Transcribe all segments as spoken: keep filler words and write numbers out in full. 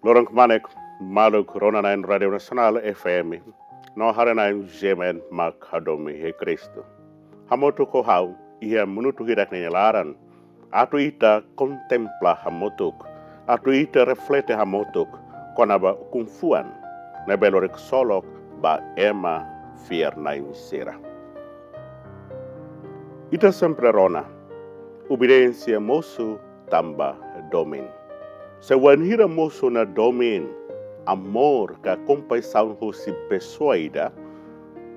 Loron kmanek, maluk rona-na'in Rádiu Nasionál F M no haree-na'in G M N mak hadomi iha Kristu. Hamutuk ho ha'u iha minutu hirak ne'e nia laran, atu ita kontempla hamutuk, atu ita reflete hamutuk kona-ba ukun-fuan ne'ebé lori ksolok ba ema fiar-na'in sira. Ita sempre rona, obediénsia mosu tanba domin. Se wainhira mosu ona domin, amór ka kompaixaun husi pesoa ida,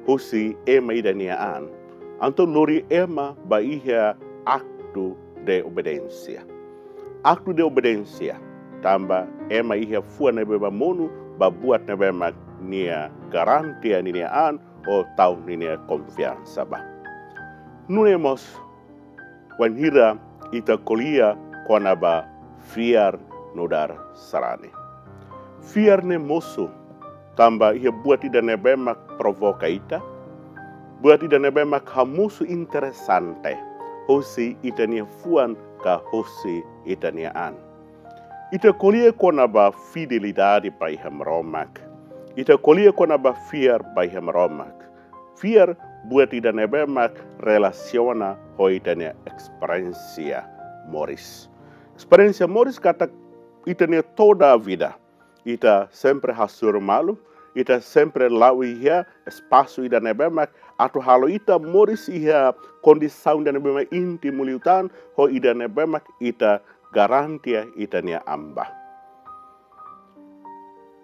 husi ema ida nia an, entaun lori ema ba iha aktu de obediénsia. Aktu de obediénsia, tanba ema iha fuan ne'ebé mak monu ba buat ne'ebé mak nia garantia ninia an ou tau ninia konfiansa ba. Nune'e mós wainhira ita ko'alia kona-ba fiar nu'udar sarani. Fiar ne'e mosu tanba iha buat ida ne'ebé mak provoka ita, buat ida ne'ebé mak hamosu interesante husi ita-nia fuan ka husi ita-nia an. Ita ko'alia kona-ba fidelidade ba iha Maromak. Ita ko'alia kona-ba fiar ba iha Maromak. Fiar buat ida ne'ebé mak relasiona ho ita-nia esperiénsia moris. Esperiénsia moris katak ita-nia toda vida. Ita sempre hasoru malu, ita sempre la'o iha espasu ida ne'ebé mak atu halo ita moris iha kondisaun ida ne'ebé mak íntimu liután, ho ida ne'ebé mak ita garantia ita-nia an ba.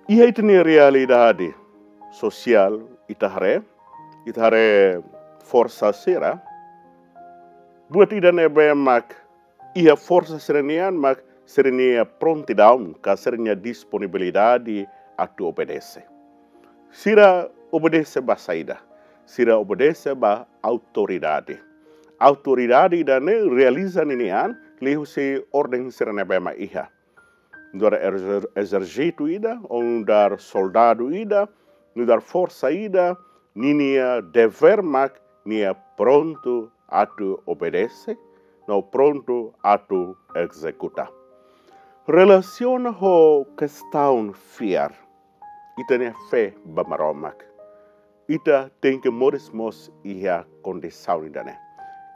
Iha ita-nia realidade sosiál ita haree, ita haree forsa sira, buat ida ne'ebé mak iha forsa sira-nian mak sira-nia prontidaun ka sira-nia disponibilidade atu obedese. Sira obedese ba saida? Sira obedese ba autoridade. Autoridade ida-ne'e realiza ninia an liuhusi orden sira ne'ebé mak iha. Nu'udar ezer-, ezérsitu ida, ou nu'udar soldadu ida, nu'udar forsa ida, ninia devér mak nia prontu atu obedese, no prontu atu ezekuta. Relasiona ho kestaun fiar, ita-nia fé ba Maromak. Ita tenke moris mós iha kondisaun ida-ne'e.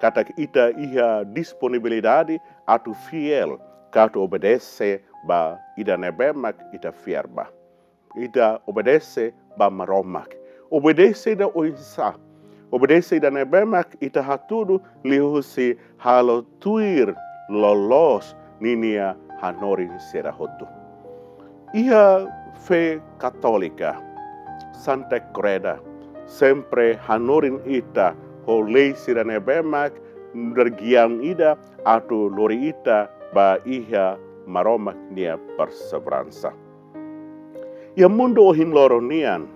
Katak ita iha disponibilidade atu fiél, ka atu obedese ba ida ne'ebé mak ita fiar ba. Ita obedese ba Maromak. Obedese ida oinsá? Obedese ida ne'ebé mak ita hatudu liuhusi halo tuir loloos ninia hanorin sira hotu. Iha fé katólika, Santa Kreda sempre hanorin ita ho lei sira ne'ebé mak nu'udar giaun ida atu lori ita ba iha Maromak nia perseveransa. Iha mundu ohin loron nian,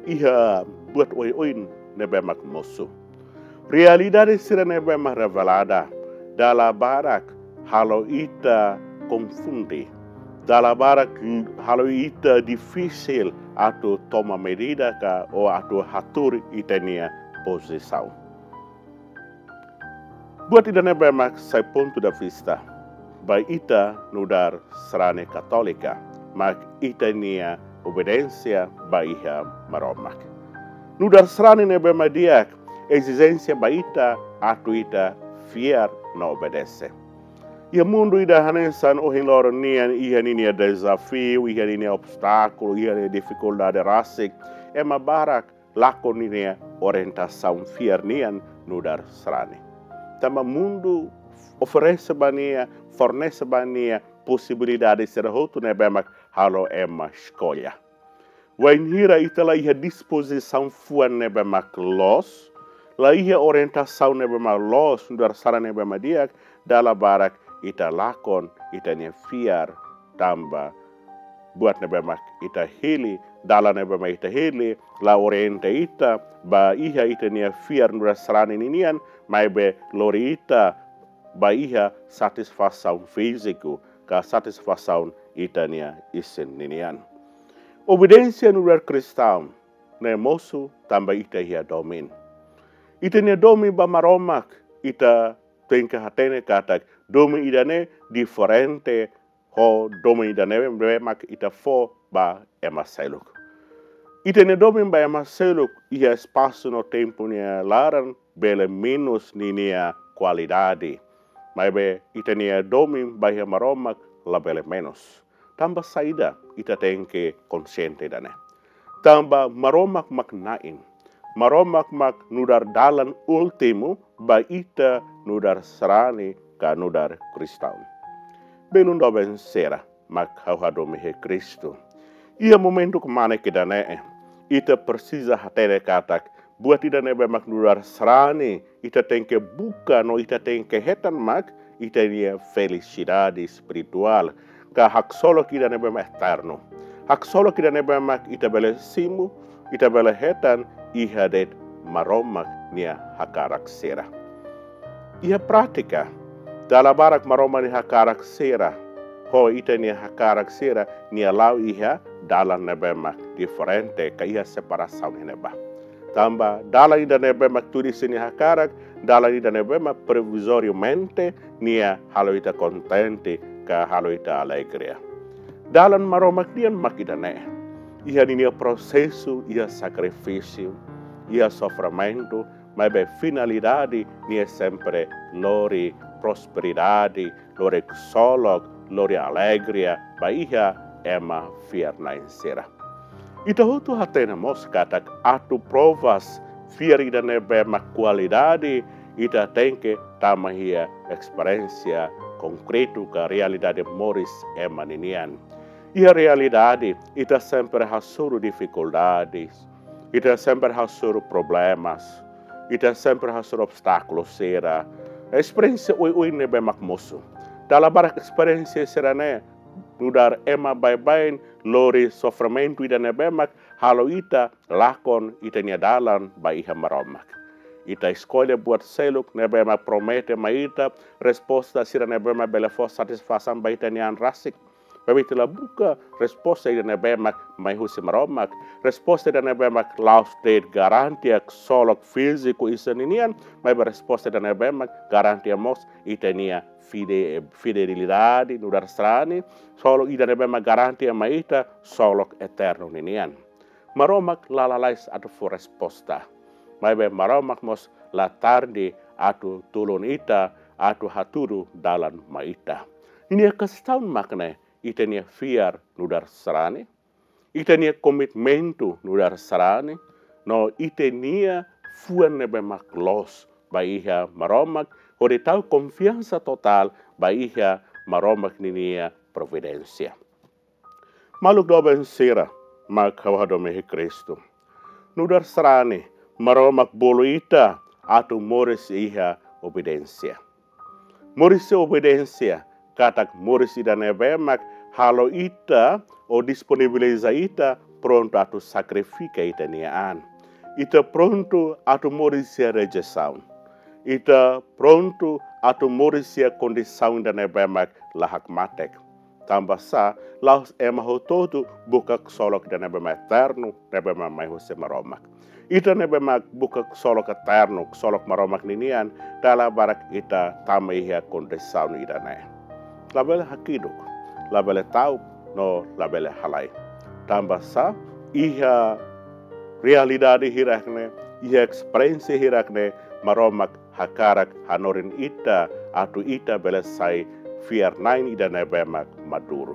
iha buat oioin ne'ebé mak mosu. Realidade sira ne'ebé mak revelada, dala barak halo ita konfunde. Dala barak halo ita difisil atu toma medida ka ou atu hatuur ita-nia pozisaun. Buat ida ne'ebé mak sai pontu de vista ba ita nu'udar sarani katólika, mak ita-nia obediénsia ba iha Maromak. Nu'udar sarani ne'ebé mak di'ak, ezijénsia ba ita atu ita fiar no obedese. Iha mundu ida hanesan ohin loron nian iha ninia dezafiu, iha ninia obstákulu, iha ninia difikuldade rasik, ema barak lakon ninia orientasaun fiar nian nu'udar sarani. Tanba mundu oferese ba nia, fornese ba nia posibilidade sira hotu ne'ebé mak halo ema eskolla. Wainhira ita la iha dispozisaun fuan ne'ebé mak loos, la iha orientasaun ne'ebé mak loos nu'udar sarani ne'ebé mak di'ak, dala barak ita lakon ita-nia fiar tanba buat ne'ebé mak ita hili, dalan ne'ebé mak ita hili, la orienta ita ba iha ita-nia fiar nu'udar sarani ninian, maibé lori ita ba iha satisfasaun fíziku, ka satisfasaun ita-nia isin ninian. Obediénsia nu'udar kristaun ne'e mosu tanba ita iha domin. Ita-nia domin ba Maromak, ita tenke hatene katak domin ida-ne'e diferente ho domin ida-ne'ebé mak ita fó ba ema seluk. Ita-nia domin ba ema seluk iha espasu no tempu nia laran bele menus ninia kualidade. Maibé ita-nia domin ba iha Maromak labele menus. Tanba saida ita tenke konsiente ida-ne'e? Tanba Maromak mak Na'i. Maromak mak nu'udar dalan últimu ba ita nu'udar sarani ka nu'udar kristaun. Belun doben sira mak ha'u hadomi iha Kristu. Iha momentu kmanek ida-ne'e, ita presiza hatene katak buat ida-ne'ebé mak nu'udar sarani, ita tenke buka no ita tenke hetan mak ita-nia felisidade espirituál, ka haksolok ida-ne'ebé mak eternu. Haksolok ida-ne'ebé mak ita bele simu, ita bele hetan iha de'it Maromak nia hakarak sira. Iha prátika, dala barak Maromak nia hakarak sira ho ita-nia hakarak sira, nia la'o iha dalan ne'ebé mak diferente, ka iha separasaun iha ne'ebá. Tanba dalan ida-ne'ebé mak tuir sira-nia hakarak, dalan ida-ne'ebé mak provizoriamente nia halo ita kontente, ka halo ita alegre. Dalan Maromak nian mak ida-ne'e. Iha ninia prosesu, iha sakrifísiu, iha sofrimentu, maibé finalidade nia sempre lori prosperidade, lori ksolok, lori alegria ba iha ema fiar-na'in sira. Ita hotu hatene mós katak atu provas fiar ida-ne'ebé mak kualidade, ita tenke tama iha esperiénsia konkretu ka realidade moris ema ninian. Iha realidade, ita sempre hasoru difikuldades, ita sempre hasoru problemas, ita sempre hasoru obstákulu sira. Esperiénsia oioin ne'ebé mak mosu. Dala barak esperiénsia sira-ne'e nu'udar ema baibain lori sofrimentu ida-ne'ebé mak halo ita lakon ita-nia dalan ba iha Maromak. Ita eskolla buat seluk ne'ebé mak promete mai ita resposta sira ne'ebé mak bele fó satisfasaun ba ita-nia an rasik. Maibé ita la buka resposta ida-ne'ebé mak mai husi Maromak. Resposta ida-ne'ebé mak la'ós de'it garantia ksolok fíziku isin ninian, maibé resposta ida-ne'ebé mak garantia mós ita-nia fide-, fidelidade nu'udar sarani, ksolok ida-ne'ebé mak garantia mai ita ksolok eternu ninian. Maromak la lalais atu fó resposta. Maibé Maromak mós la tarde atu tulun ita, atu hatudu dalan mai ita. Ninia kestaun mak ne'e, ita-nia fiar nu'udar sarani, ita-nia komitmentu nu'udar sarani, no ita-nia fuan ne'ebé mak loos ba iha Maromak, hodi tau konfiansa totál ba iha Maromak ninia providénsia. Maluk doben sira mak ha'u hadomi iha Kristu. Nu'udar sarani, Maromak bolu ita atu moris iha obediénsia. Moris iha obediénsia, katak moris ida-ne'ebé mak halo ita, ou disponibiliza ita, prontu atu sakrifika ita-nia an. Ita prontu atu moris iha rejeisaun. Ita prontu atu moris iha kondisaun ida-ne'ebé mak la hakmatek. Tanba sá, la'ós ema hotu-hotu buka ksolok ida-ne'ebé mak eternu, ne'ebé mak mai husi Maromak. Ita ne'ebé mak buka ksolok eternu, ksolok Maromak ninian, dala barak ita tama iha kondisaun ida-ne'e. Labele hakiduk, labele ta'uk, no labele halai. Tanba sá, iha realidade hirak ne'e, iha esperiénsia hirak ne'e, Maromak hakarak hanorin ita, atu ita bele sai fiar-na'in ida-ne'ebé mak maduru.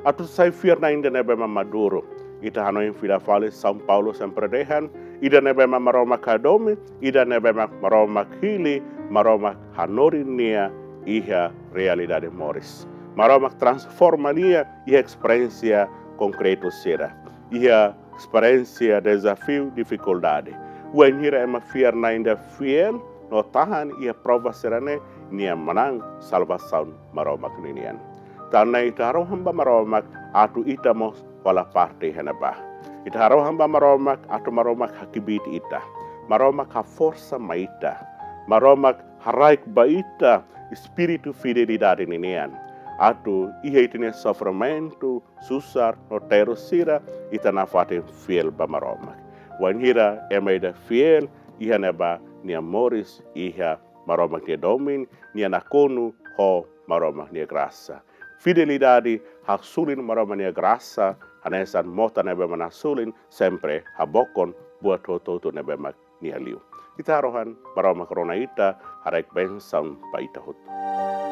Atu sai fiar-na'in ida-ne'ebé mak maduru, ita hanoin fila fali São Paulo sempre dehan, ida-ne'ebé mak Maromak hadomi, ida-ne'ebé mak Maromak hili, Maromak hanorin nia iha realidade moris. Maromak transforma nia iha esperiénsia konkretu sira. Iha esperiénsia dezafiu, difikuldade. Wainhira ema fiar-na'in ida fiél no tahan iha prova sira-ne'e, nia manán salvasaun Maromak ninian. Tan ne'e ita harohan ba Maromak atu ita mós hola parte iha ne'ebá. Ita harohan ba Maromak atu Maromak hakbiit ita. Maromak haforsa mai ita. Maromak haraik ba ita espíritu fidelidade ninian. Atu iha ita-nia sofrimentu, susar no terus sira, ita nafatin fiél ba Maromak. Wainhira ema ida fiél, iha ne'ebá nia moris iha Maromak nia domin, nia nakonu ho Maromak nia grasa. fidelidade, hasoru Maromak nia grasa, hanesan mota ne'ebé mak hasoru, sempre habokon buat hotu-hotu ne'ebé mak nia liu. Ita harohan Maromak rona ita, haraik bensaun ba ita hotu.